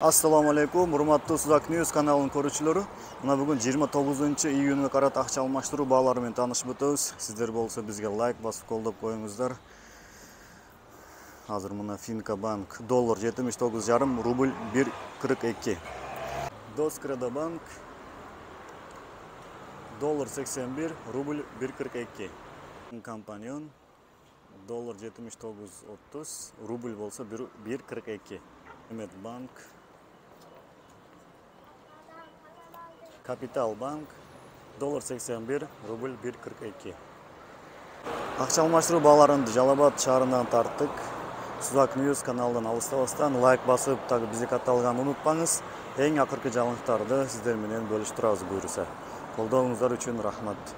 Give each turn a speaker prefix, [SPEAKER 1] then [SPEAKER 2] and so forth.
[SPEAKER 1] Assalamu alaikum, урматтуу Suzak News каналынын көрүүчүлөрү. Мына бүгүн 29-июнга карат акча алмаштыруу баалары менен таанышып өтөбүз. Сиздер болсо бизге лайк басып колдоп коюңуздар. Азыр мына Finca Bank доллар 79,5, рубль 1,42. Doskredo Bank доллар 81, рубль 1,42. Компаньон доллар 79,30, рубль болсо 1,42. Банк, Капитал банк доллар 81, рубль 1,42. Акча алмаштыруу бааларынды Жалал Абад шаарынан тарттык. Suzak News каналынан алыстабастан лайк басып, так бизди катталганды унутпаңыз. Эң акыркы жаңылыктарды сиздер менен бөлүштүрөбүз буюрса. Колдооңуздар үчүн рахмат.